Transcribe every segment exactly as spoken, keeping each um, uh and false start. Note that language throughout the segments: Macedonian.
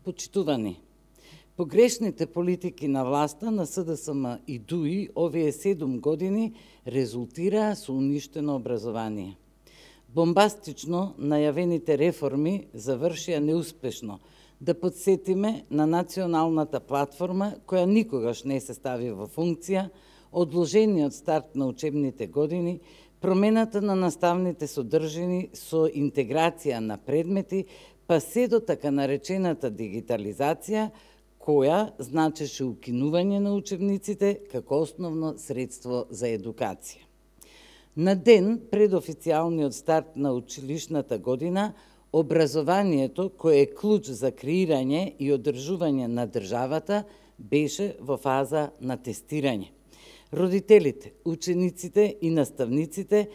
Почитувани, погрешните политики на власта на С Д С М и Д У И овие седум години резултираа со уништено образование. Бомбастично најавените реформи завршија неуспешно. Да подсетиме на националната платформа, која никогаш не се стави во функција, одложениот старт на учебните години, промената на наставните содржини со интеграција на предмети, па се до така наречената дигитализација, која значеше укинување на учебниците како основно средство за едукација. На ден пред официјалниот старт на училишната година, образованието, кое е клуч за креирање и одржување на државата, беше во фаза на тестирање. Родителите, учениците и наставниците,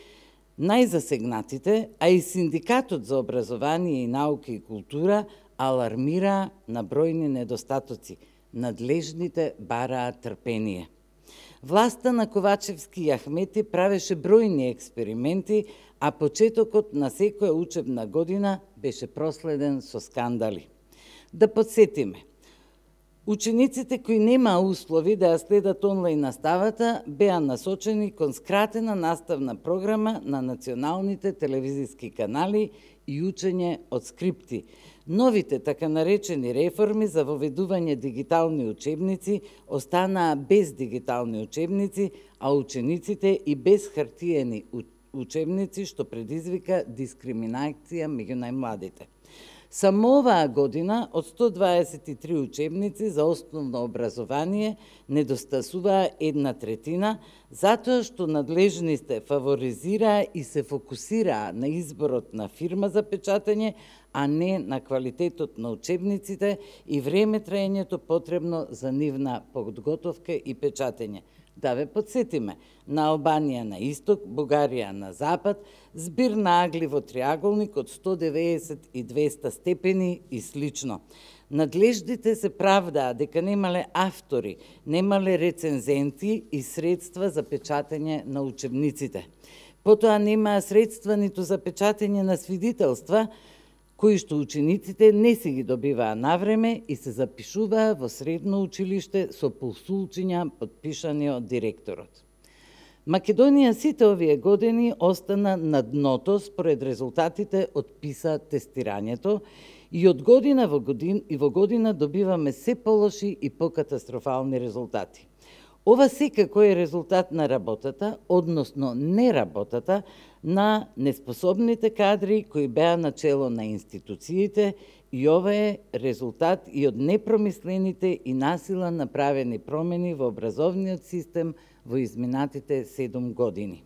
најзасегнатите, а и Синдикатот за образование и наука и култура алармираа на бројни недостатоци. Надлежните бараа трпение. Власта на Ковачевски и Ахмети правеше бројни експерименти, а почетокот на секоја учебна година беше проследен со скандали. Да подсетиме, учениците кои немаа услови да ја следат онлайн наставата беа насочени кон скратена наставна програма на националните телевизиски канали и учење од скрипти. Новите така наречени реформи за воведување дигитални учебници останаа без дигитални учебници, а учениците и без хартиени учебници, што предизвика дискриминација меѓу најмладите. Само оваа година од сто дваесет и три учебници за основно образование недостасуваа една третина, затоа што надлежните фаворизираа и се фокусираа на изборот на фирма за печатење, а не на квалитетот на учебниците и време траењето потребно за нивна подготовка и печатење. Да ве подсетиме, на Албанија на исток, Бугарија на запад, збир на агли во триаголник од сто деветдесет и двеста степени и слично. Надлежните се правдаа дека немале автори, немале рецензенти и средства за печатење на учебниците. Потоа немаа средства ниту за печатење на свидетелства, кои што учениците не си ги добиваа навреме и се запишуваа во средно училиште со посулчиња подпишани од директорот. Македонија сите овие години остана на дното според резултатите од ПИСА тестирањето и од година во година и во година добиваме се полоши и покатастрофални резултати. Ова секако е резултат на работата, односно неработата, на неспособните кадри кои беа начело на институциите и ова е резултат и од непромислените и насила направени промени во образовниот систем во изминатите седум години.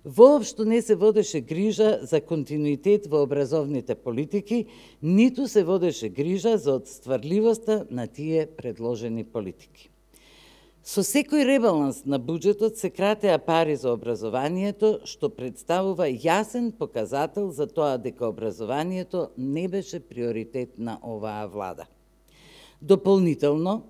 Воопшто не се водеше грижа за континуитет во образовните политики, ниту се водеше грижа за отстварливоста на тие предложени политики. Со секој ребаланс на буџетот се кратеа пари за образованието, што представува јасен показател за тоа дека образованието не беше приоритет на оваа влада. Дополнително,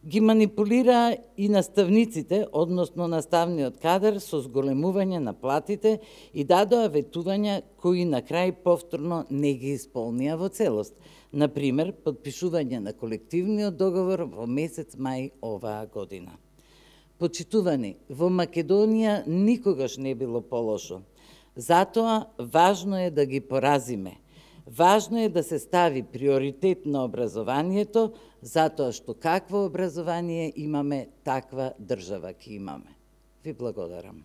ги манипулираа и наставниците, односно наставниот кадар, со зголемување на платите и дадоа ветувања кои на крај повторно не ги исполнија во целост. Например, подпишување на колективниот договор во месец мај оваа година. Почитувани, во Македонија никогаш не било полошо. Затоа важно е да ги поразиме. Важно е да се стави приоритет на образованието, затоа што какво образование имаме, таква држава ќе имаме. Ви благодарам.